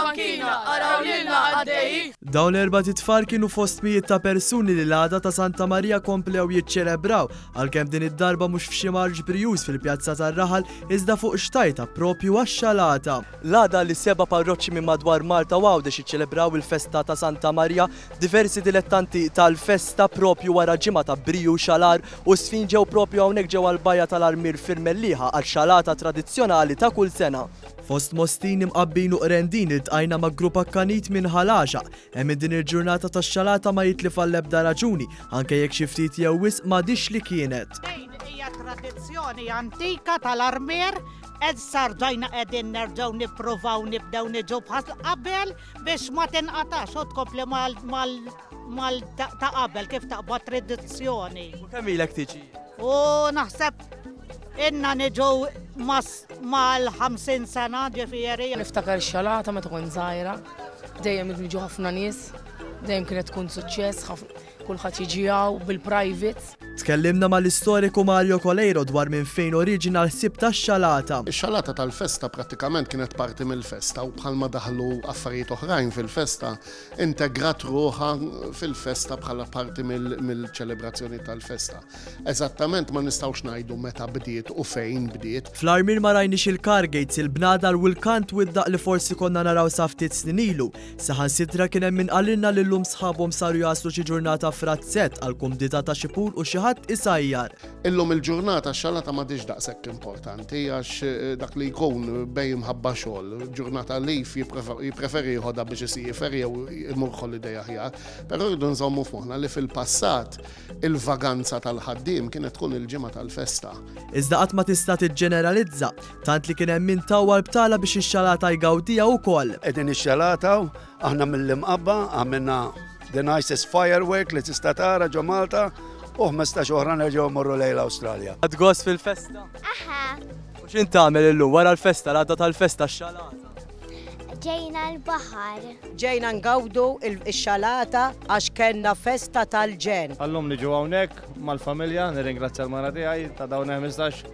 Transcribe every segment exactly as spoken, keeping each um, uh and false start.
Fuq il-bankina, araw lilna għaddejjin. Dawn l-erbat itfal kienu fost mijiet ta' persuni li l-għada ta' Santa Maria komplew jiċċelebraw, għalkemm din id-darba mhux f'xi marċ brijuż fil-pjazza tar-raħal, iżda fuq xtajta propju għax-xalata. L-għada li seba' parroċċi minn madwar Malta u Għawdex iċċelebraw il-festa ta' Santa Maria, diversi dilettanti tal-festa propju wara ġimgħa ta' briju, xalar u sfin ġew propju hawnhekk ġewwa l-bajja tal-Armier fil-Mellieħa għal xalata tradizzjonali ta' kull sena. Fost Mostin, Imqabbin u Qrendin iltqajna ma' grupp akkanit minn Ħal Għaxaq. Hemm din il-ġurnata tax-xalata ma jitlif għall-ebda raġuni, anke jekk xi ftit jew wisq m'għadix li kienet. Din hija tradizzjoni antika tal-Armier, issa rġajna qegħdin nerġgħu nippruvaw nibdew niġu bħal qabel biex ma tinqatax u tkompli mal mal mal ta' qabel kif taqbad tradizzjoni. U kemm ilek tiġi? U naħseb inna niġu mal-ħamsin sena, ġifieri. Niftakar xalata meta kont żgħira, dejjem niġu ħafna nies, dejjem kienet tkun suċċess, kulħadd jiġi hawn bil-private. Tkellimna mal-istoriku Mario Coleiro dwar minn fejn oriġina l-ħsieb tax-xalata. Ix-xalata tal-festa prattikament kienet parti mill-festa u bħalma daħlu affarijiet oħrajn fil-festa, integrat ruħha fil-festa bħala parti mill-ċelebrazzjoni tal-festa. Eżattament ma nistgħux ngħidu meta bdiet u fejn bdiet. Fl-Armier ma rajniex il-car gates, il-bnadar u l-kant u d-daq li forsi konna naraw sa ftit snin ilu. Saħansitra kien hemm min qalilna li llum sħabhom saru jaslu xi ġurnata f'razzett għal kumdità ta' xi pool u xi ħadd isajjar. Illum il-ġurnata x-xalata m'għadix daqshekk importanti għax eh, dak li jkun bej imħabba xogħol, ġurnata leave jippreferi jieħodha biex isiefer jew imur holiday aħjar. Però rridu nżommu f'moħħna li fil-passat il-vaganza tal-ħaddiem kienet tkun il-ġimgħa tal-festa. Iżda qatt ma tista' tiġġeneralizza, tant li kien hemm min tawwal btala biex ix-xalata jgawdija wkoll. Qegħdin ix-xalata aħna mill-Imqabba għamilna the nicest firework li tista' tara ġo Malta u ħmistax oħra nerġgħu mmorru lejn l-Awstralja. Ħadt gost fil-festa? Aha. U x'int tagħmel illum wara l-festa, l-għada tal-festa, x-xalata? Ġejna l-baħar. Ġejna ngawdu il-xalata għax kellna festa tal-ġenn. Għallum niġu hawnhekk mal-familja, nirringrazzja l-mara tiegħi ta' dawn ħmistax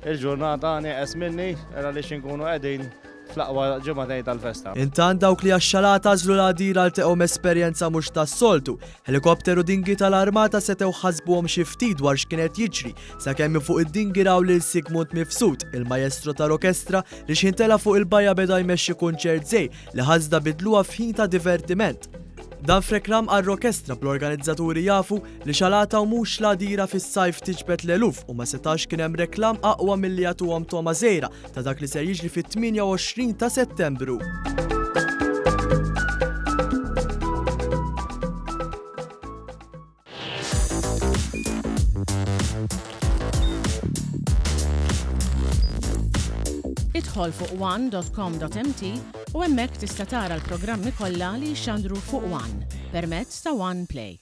il-ġurnata nieqes minni għaliex inkunu qegħdin fl-aqwa ġimagħtejn tal-festa. Intant dawk li għax-xalata għażlu l-għadira ltaqgħu esperjenza mhux tas-soltu. Helikopteru dinghy tal-armata setgħu ħasbuhom xi ftit dwar x'kienet jiġri, sakemm fuq id-dinghy raw lil Sigmund Mifsud, il-maestro tal-orkestra li x'intela fuq il-bajja beda jmexxi kunċert żgħir li ħasda bidluha f'ħin ta' divertiment. Dan f'reklam għall-orkestra, bl-organizzaturi jafu li xalata u mhux l-għadira fis-sajf tiġbed l-eluf u ma setax kien hemm reklam aqwa milli jagħtuhom togħma żgħira ta' dak li ser jiġri fit-tmienja u għoxrin ta' Settembru. Idħol fuq one dot com dot M T u hemmhekk tista' tara l-programmi kollha li jxandru fuq One permezz ta' One Play.